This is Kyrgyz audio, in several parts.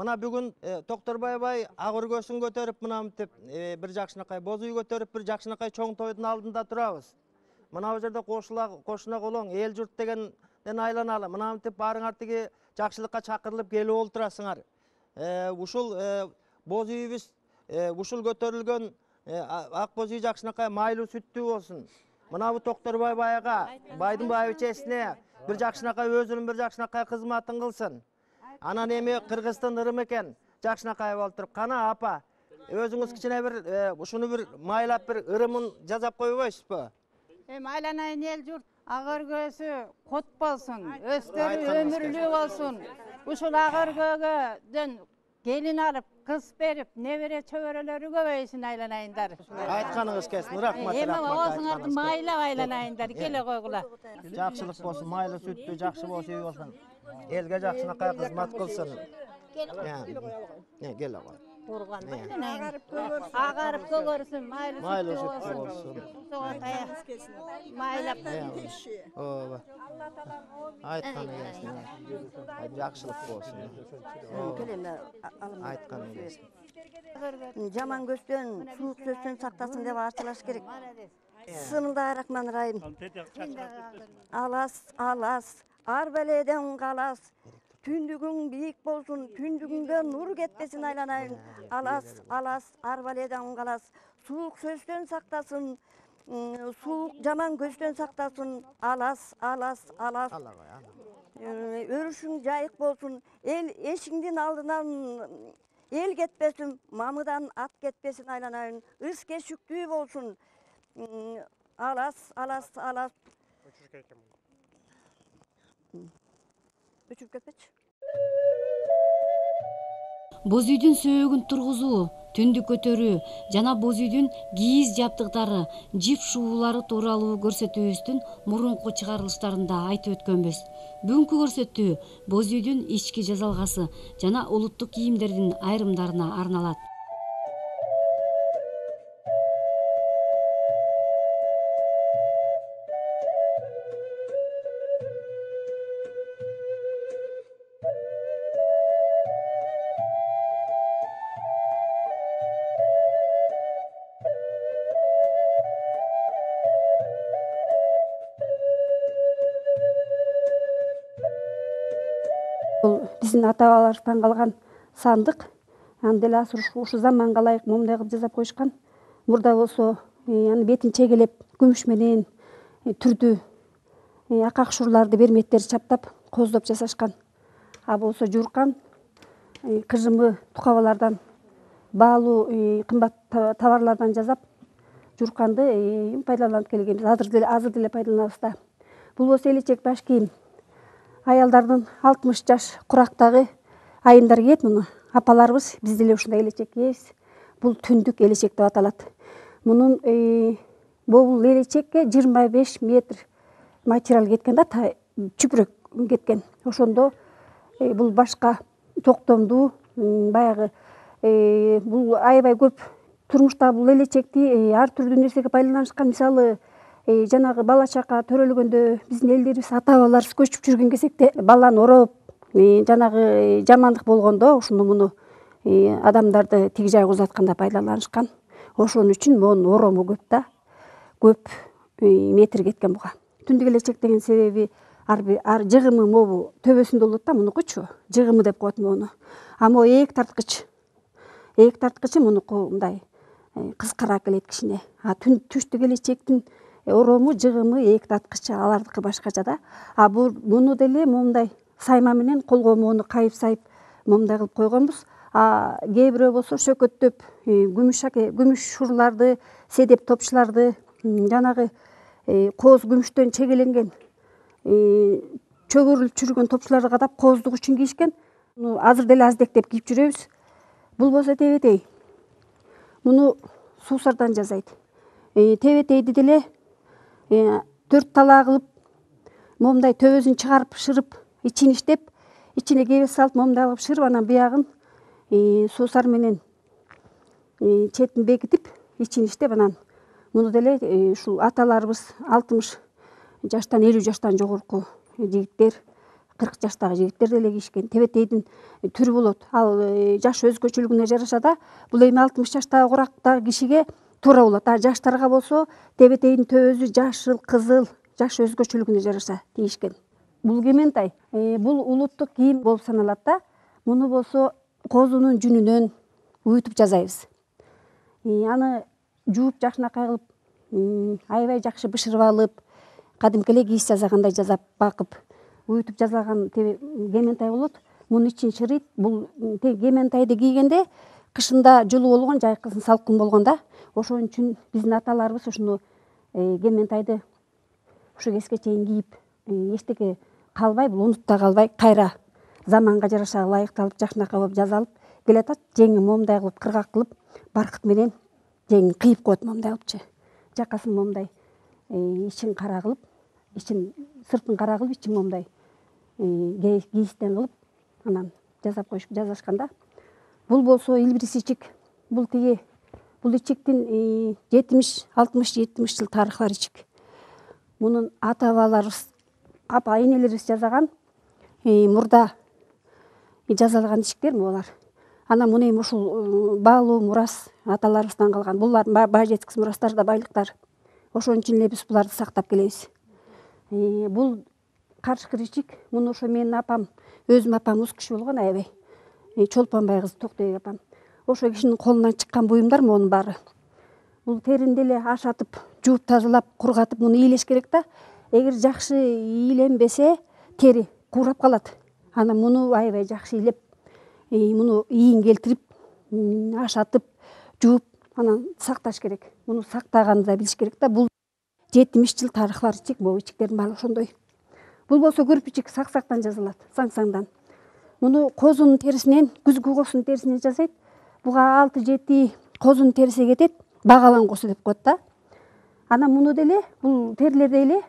Мына бүгүн Токторбай бай ак өргөсүн көтөрүп, мына мынтип бир жакшынакай боз үй көтөрүп, бир жакшынакай чоң тойдун алдында турабыз. Мына бул жерде кошуна колоң эл журт дегенден айланалы. Мына мынтип баарыңар тиги жакшылыкка чакырылып келип олтурасыңар. Ушул боз үйүбүз ушул көтөрүлгөн ак боз үй жакшынакай майлуу сүттүү болсун. Мына бул Токторбай байга, байдын байбичесине бир жакшынакай өзүнүн бир жакшынакай кызматын кылсын. Анан эми Кыргыздын ырым экен, жакшынакай болуп туруп. Кана апа, өзүңүз кичине бир ушуну бир майлап бир ырымын жазап койбойсузбу? Эми айланайын эл журт, ак өргөсү кот болсун, өстөрү өмүрлүү болсун. Ушул ак өргөгөдөн келин алып, кыз берип, небере чөбөрөлөрү көбөйсүн айланайындар. Айтканыңыз келсин, рахмат. Эми оозуңарды майлап айланайындар, келе койгула. Жакшылык болсун, майлуу сүттүү, жакшы боз үй болсун. Элге жакшынакай кызмат кылсын. Кел ага. Агарып көгөрсүн, майлуу сүттүү болсун. Майлап. Ооба. Айтканы келсин. Жакшылык болсун. Айтканы келсин. Жаман көздөн, суук сөздөн сактасын деп арчылаш керек. Бисмиллахиррахманиррахим. Алас, ар беледен калас. Түндүгүң бийик болсун, түндүгүңдө нур кетпесин айланайын. Алас, ар беледен калас. Суук сөздөн сактасын, жаман көздөн сактасын. Алас. Өрүшүң жайык болсун, эл эшиңдин алдынан эл кетпесин, мамыдан ат кетпесин айланайын. Ыс кешүктүү болсун. Алас. Өчүп кетпечи. Боз үйдүн сөөгүн тургузуу, түндүк көтөрүү жана боз үйдүн кийиз жабдыктары, жип шуулары тууралуу көрсөтүүбүздүн мурунку чыгарылыштарында айтып өткөнбүз. Бүгүнкү көрсөтүү боз үйдүн ички жазалгасы жана улуттук кийимдердин айрымдарына арналат. Бул биздин ата-бабаларыбыздан калган сандык. Аны деле азыр ушу заманга ылайык момундай кылып жасап коюшкан. Мурда болсо аны бетин чегелеп, күмүш менен түрдүү акак-шурларды, берметтерди чаптап, кооздоп жасашкан. А болсо жууркан кыжымы тукабалардан, баалуу кымбат товарлардан жасап, жуурканды пайдаланып келгенбиз. Азыр деле пайдаланабыз да. Бул болсо элечек баш кийим. Аялдардын 60 жаш курактагы айымдар кийет муну. Апаларыбыз биз деле ушундай элечек кийебиз. Бул түндүк элечек деп аталат. Мунун бул элечекке 25 метр материал кеткен да, чүпүрөк кеткен. Ошондо бул башка токтомдуу, баягы бул аябай көп турмушта бул элечекти ар түрдүү нерсеге пайдаланышкан. Мисалы, жанагы бала чака төрөлгөндө биздин элдерибиз, ата-бабаларыбыз көчүп жүргөн кезекте баланы ороп, жанагы жамандык болгондо ушуну муну адамдарды тиги жайга узатканда пайдаланышкан. Ошон үчүн монун орому көп да, көп метр кеткен буга. Түндүк элечек деген себеби ар жыгымы могу төбөсүндө болот да, мунукучу жыгымы деп коет мону. А могу ээк тарткычы мунуку мындай кыскараак келет кичине. А түштүк элечектин орому, жыгымы, ээк тарткычы алардыкы башкача да. А муну деле момундай сайма менен колго моуну кайып сайып момундай кылып койгонбуз. А кээ бирөө болсо шөкөттөп күмүш шурларды, седеп топчуларды, жанагы кооз күмүштөн чегеленген чөгөрүлүп жүргөн топчуларды кадап кооздук үчүн кийишкен. Азыр деле аздектеп кийип жүрөбүз. Бул болсо тебетей. Муну суусардан жасайт. Тебетейди деле 4 талаа кылып, момундай төбөсүн чыгарып, шырып, ичин иштеп, ичине кебес салып, момундай кылып шырып, анан биягын суусар менен четин бекитип, ичин иштеп, анан муну деле ушул аталарыбыз 60 жаштан 50 жаштан жогорку жигиттер 40 жаштагы жигиттер деле кийишкен. Тебетейдин түрү болот. Ал жаш өзгөчөлүгүнө жараша да бул эми 60 жаштагы курактагы кишиге туура болот. А жаштарга болсо тебетейдин төбөсү жашыл, кызыл, жаш өзгөчөлүгүнө жараша тийишкен. Бул кементай, бул улуттук кийим болуп саналат да. Муну болсо козунун жүнүнөн уютуп жасайбыз. Аны жууп жакшынакай кылып, аябай жакшы бышырып алып, кадимки эле кийиз жасагандай жасап бакып, уютуп жасаган кементай болот. Мунун ичин шырыйт. Бул кементайды кийгенде кышында жылуу болгон, жайкысын салкын болгон да. Ошон үчүн биздин аталарыбыз ушуну кементайды ушу кезге чейин кийип, эчтеке калбай, бул унутта калбай, кайра заманга жараша ылайыкталып, жакшынакай болуп жасалып келатат. Жеңи момундай кылып, кыргак кылып, баркыт менен жеңин кыйып коет момундай кылыпчы. Жакасын момундай ичин кара кылып, сыртын кара кылып, ичин момундай кийизден кылып, анан жасап коюшуп жасашканда. Бул болсо илбирис ичик. Бул ичиктин 60-70 жыл тарыхы бар ичик. Мунун ата-бабаларыбыз, апа-энелерибиз жасаган, мурда жасалган ичиктер булар. Анан муну эми ушул баалуу мурас аталарыбыздан калган. Булардын бай жеткис мурастары да байлыктар. Ошон үчүн эле биз буларды сактап келебиз. Бул карышкыр ичик. Муну ошо менин апам, өзүм апам уз киши болгон, аябай. Чолпонбай кызы Токтойбек апам. Ошо кишинин колунан чыккан буюмдар монун баары. Бул теринде эле ашатып, жууп тазалап, кургатып муну ийлеш керек да. Эгер жакшы ийленбесе, тери куурап калат. Анан муну аябай жакшы ийлеп, муну ийин келтирип, ашатып, жууп, анан сакташ керек. Муну сактаганды да билиш керек да. Бул 70 жыл тарыхы бар ичик, бул ичиктердин баары ошондой. Бул болсо көрпүчүк саксактан жасалат, саңсаңдан. Муну козунун терисинен, күзгү козунун терисинен жасайт. Буга 6-7 козунун териси кетет, багалан козу деп коет да. Анан муну деле, бул терилерди эле,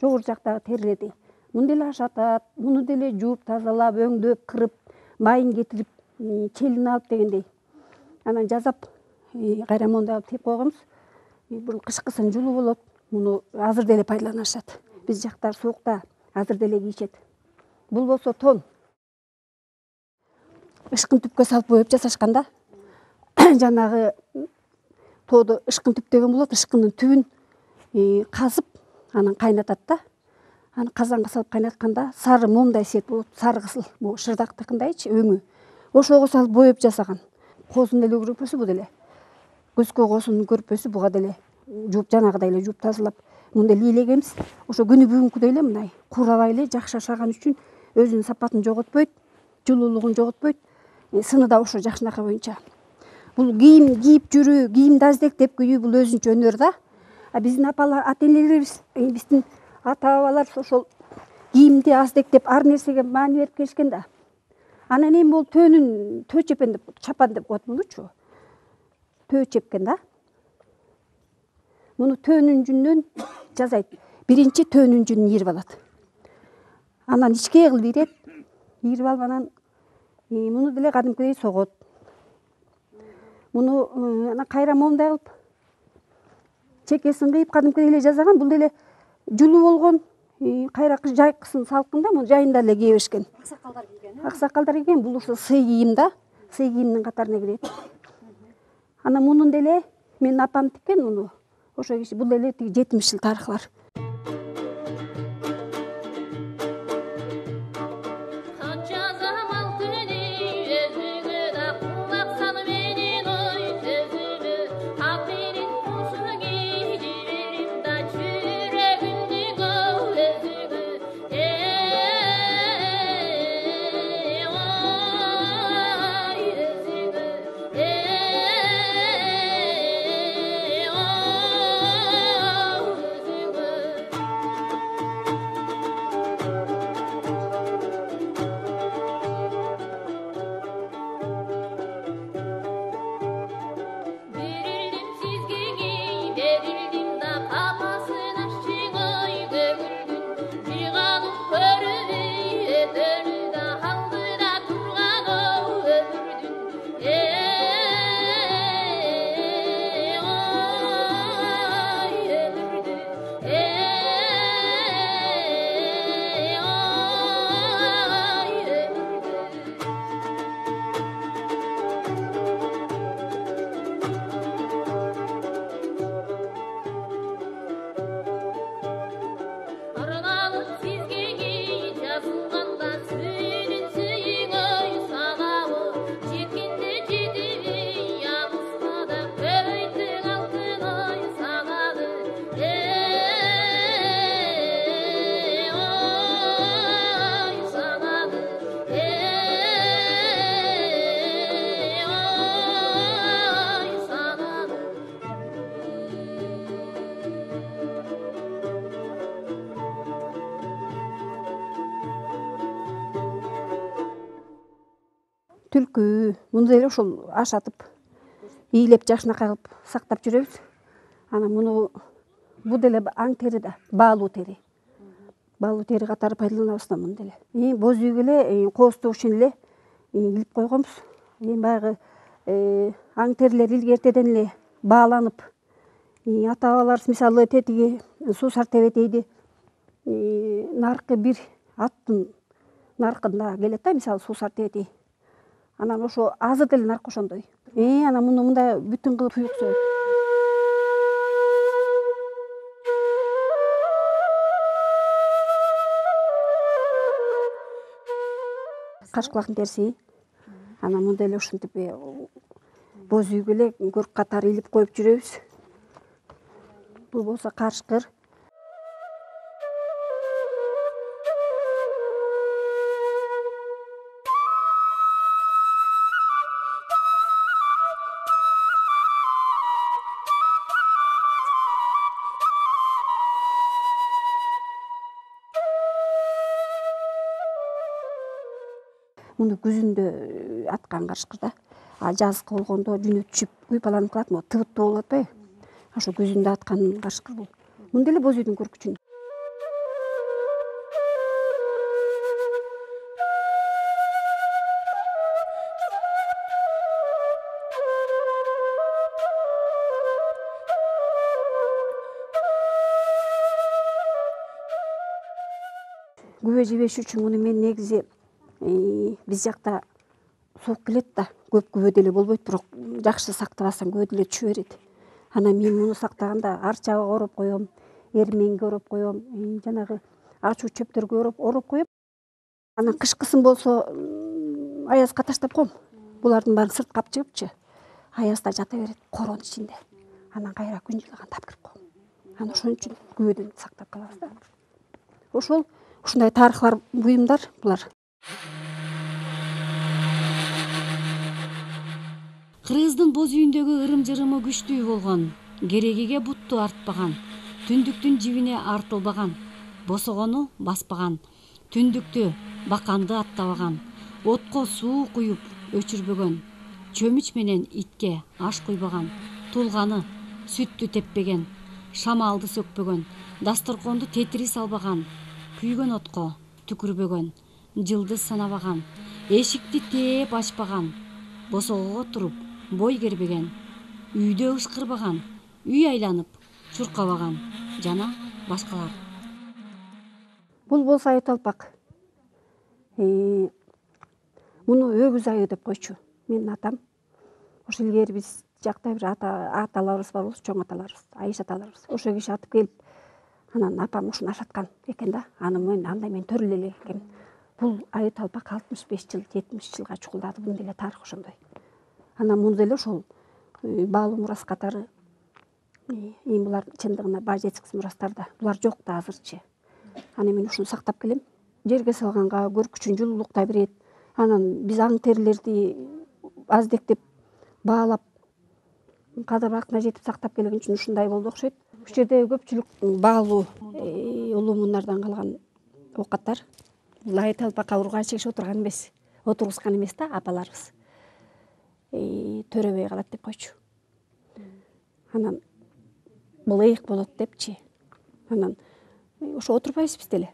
жогору жактагы терилерди. Муну деле ашатат, муну деле жууп, тазалап, өңдөп, кырып, майын кетирип, челин алып дегендей. Анан жасап, кайра мондай кылып тип койгонбуз. Бул кышкысын жылуу болот. Муну азыр деле пайдаланышат. Биз жактар суукта азыр деле кийишет. Бул болсо тон. Ышкын түпкө салып боеп жасашканда, жанагы тоодо ышкын түп деген болот. Ышкындын түбүн казып, анан кайнатат да. Аны казанга салып кайнатканда сары момундай свет болот. Сары кызыл, бул шырдактыкындайчы өңү. Ошого салып боеп жасаган. Козунун деле көрпөсү бу деле. Көзгө козунун көрпөсү буга деле жууп, жанагыдай эле жууп тазалап, муну деле ийлегенбиз. Ошо күнү бүгүнкүдөй эле мындай куурабай эле жакшы ашаган үчүн өзүнүн сапатын жоготпойт, жылуулугун жоготпойт. Сыны да ошо жакшынакай боюнча. Бул кийим кийип жүрүү, кийимди аздектеп кийүү бул өзүнчө өнөр да. А биздин апалар, ата-энелерибиз, биздин ата-бабаларыбыз ошол кийимди аздектеп, ар нерсеге маани берип келишкен да. Анан эми бул төөнүн төө чепен деп, чапан деп коет мунучу. Төө чепкен да. Муну төөнүн жүнүнөн жасайт. Биринчи төөнүн жүнүн ийирип алат. Анан ичке кылып ийрет. Ийирип алып анан муну деле кадимкидей согот. Муну анан кайра момундай кылып чекесин кыйып кадимкидей эле жасаган. Бул деле жылуу болгон, кайра жайкысын салкында муну жайында эле кие беришкен. Аксакалдар кийген. Аксакалдар кийген. Бул ошо сый кийим да. Сый кийимдин катарына кирет. Анан мунун деле менин апам тиккен муну. Ошо киши бул деле 70 жыл тарыхы бар. түлкү муну деле ошол ашатып ийилеп жакшынакай кылып сактап жүрөбүз. Анан бул деле аң тери да, баалуу тери. Баалуу тери катары пайдаланабыз да муну деле. Боз үйгө эле кооздуу ишин эле илип койгонбуз. Баягы аң терилер илгертеден эле бааланып, ата-бабаларыбыз мисалы тетиги суусар тебетейди наркы бир аттын наркында келет да, мисалы суусар тебетей. Анан ошо азыр деле наркы ошондой. Анан муну мындай бүтүн кылып туюк сөөт. Каш кулактын териси. Анан муну деле ушинтип боз үйгө эле көрк катары илип коюп жүрөбүз. Бул болсо карышкыр. Муну күзүндө аткан карышкыр да. Жазгы болгондо жүнү түшүп уйпаланып калат, могу тыбыттуу болуп атпайбы? Ошо күзүндө аткан карышкыр бул. Муну деле боз үйдүн көркүчүн. Күбө жебеш үчүн муну мен негизи биз жакта суук келет да, көп күбө деле болбойт, бирок жакшы сактабасаң күбө деле түшө берет. Анан мен муну сактаганда арчага ороп коем, эрменге ороп коем, жанагы ачуу чөптөргө ороп коем. Анан кышкысын болсо аязга таштап коем. Булардын баарын сыртка алып чыгыпчы, аязда жата берет коронун ичинде. Анан кайра күн жылыганда алып кирип коем. Анан ошон үчүн күбөдөн сактап калабыз да. Ушундай тарыхы бар буюмдар булар. Кыргыздын боз үйүндөгү ырым-жырымы күчтүү болгон, керегиге бутту артпаган, түндүктүн жибине артылбаган, босогону баспаган, түндүктү баканды аттабаган, отко суу куюп өчүрбөгөн, чөмүч менен итке аш куйбаган, тулганы сүттү теппеген, шамалды сөкпөгөн, дасторконду тетири салбаган, күйгөн отко түкүрбөгөн, жылдыз санабаган, эшикти тээп ачпаган, босогого туруп бой кербеген, үйдө ышкырбаган, үй айланып чуркабаган жана башкалар. Бул болсо айыл талпак. Муну өгүз айы деп койчу менин атам. Ошо илгери биз жакта бир аталарыбыз бар болчу, чоң аталарыбыз, айыш аталарыбыз. Ошо киши атып келип, анан апам ушуну ашаткан экен да. Мен андай мен төрөлө элек экем. Бул айыл талпак 65 жыл, 70 жылга чукулдады. Бунун деле тарыхы ошондой. Анан муну деле ошол баалуу мурас катары булар чындыгында баа жетишкис мурастарда. Булар жок да азырчы. Анан мен ушуну сактап келем. Жерге салганга көркүчүн жылуулуктай берет. Анан биз аң терилерди аздектеп баалап кадыр-бактына жетип сактап келген үчүн ушундай болду окшойт. Бул жерде көпчүлүк баалуу улуу муундардан калган оокаттар. Бул айыл талпакка ургай чегише отургузган эмес да апаларыбыз. Төрөбөй калат деп койчу. Анан бул ыйык болот депчи. Анан ошо отурбайбыз биз деле.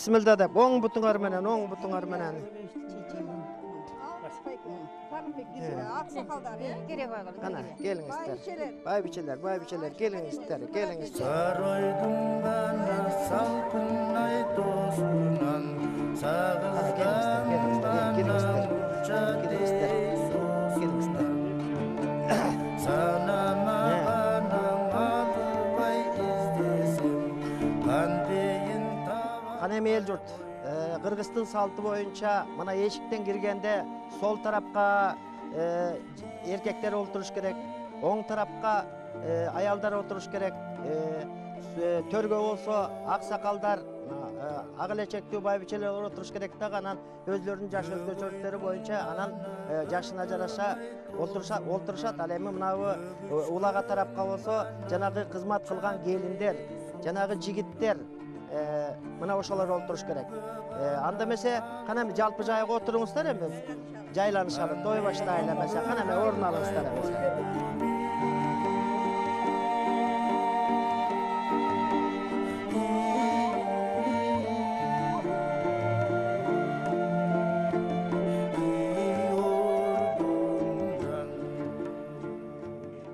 Бисмилда деп, оң бутуңар менен, оң бутуңар менен. Аксакалдар, Кана, келиңиздер. Байбичелер, келиңиздер. Саройдун гана салкынай тосунан сагызгандан Келиңиздер. санамаганам албай издесем кантейин Кана эми эл журт, Кыргыздын салты боюнча мына эшиктен киргенде сол тарапка эркектер отуруш керек, оң тарапка аялдар отуруш керек. Төргө болсо аксакалдар, ак элечектүү байбичелер отуруш керек дагы, анан өзлөрүнүн жаш өзгөчөлүктөрү боюнча анан жашына жараша олтурушат. Ал эми мынабы улага тарапка болсо жанагы кызмат кылган келиндер, жанагы жигиттер, мына ошолор олтуруш керек. Анда эмесе кана эми жалпы жайга отуруңуздар эми. Жайланышалы, той баштайлы эмесе. Кана эми орун алыңыздар эмесе.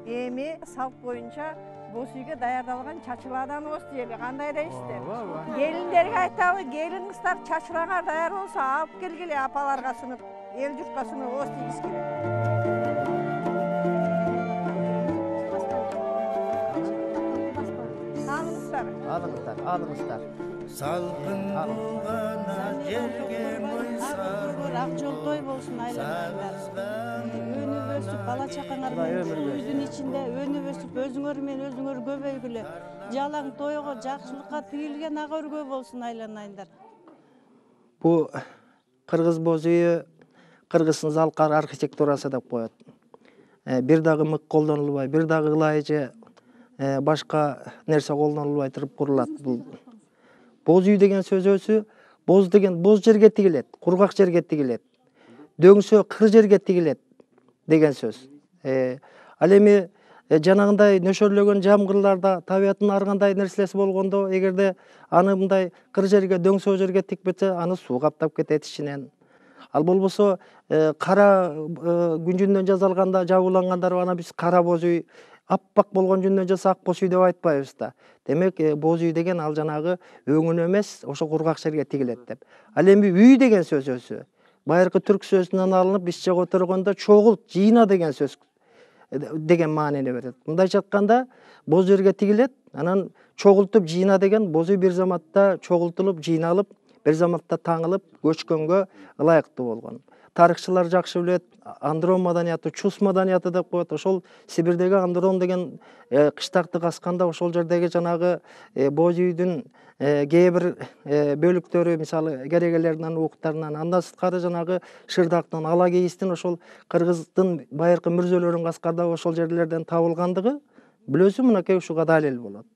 Эми салт боюнча боз үйгө даярдалган чачыладан оз жеби кандай дейсиздер? Келиндерге айтабы, келин кыздар чачылаңар даяр болсо алып келгиле апаларга сунуп, эл журтка сунуп оз тийгиз керек. Алыңыздар. салкын булгана жерге мойсар ак жол той болсун айланаңдар. Өнүп өсүп бала чакаңар менен үйдүн ичинде өнүп өсүп өзүңөр менен өзүңөр көбөйгүлө. Жалаң тойго жакшылыкка тигилген ак өргө болсун айланайындар. Бу кыргыз боз үйү Кыргыздын залкар архитектурасы деп коет. Бир дагы мык колдонулбай, бир дагы ылай же башка нерсе колдонулбай туруп курулат. Бул боз үй деген сөз өзү, боз деген боз жерге тигилет, кургак жерге тигилет. Дөңсө кыр жерге тигилет деген сөз. Ал эми жанагындай нөшөрлөгөн жамгырларда табиаттын ар кандай нерселеси болгондо, эгерде аны мындай кыр жерге, дөңсө жерге тикпесе, аны суу каптап кетет ичинен. Ал болбосо кара күн жүнүнөн жасалганда жабуулангандар ана биз кара боз үй, аппак болгон жүнүнөн жасаса ак боз үй деп айтпайбыз да. Демек боз үй деген ал жанагы өңүн эмес, ошо кургак жерге тигилет деп. Ал эми үй деген сөз өзү байыркы түрк сөзүнөн алынып, бизче которгондо чогулт, жыйна деген сөз деген маанини берет. Мындайча айтканда боз жерге тигилет, анан чогултуп жыйна деген боз үй бир заматта чогултулуп, жыйналып, бир заматта таңылып, көчкөнгө ылайыктуу болгон. Тарыхчылар жакшы билет, Андрон маданияты, Чус маданияты деп коет. Ошол Сибирдеги Андрон деген кыштакты касканда ошол жердеги жанагы боз үйдүн кээ бир бөлүктөрү, мисалы керегелеринен, ууктарынан, андан сырткары жанагы Шырдактын, Ала кейистин ошол Кыргыздын байыркы мүрзөлөрүн каскарда ошол жерлерден табылгандыгы билөсү мынакей ушуга далил болот.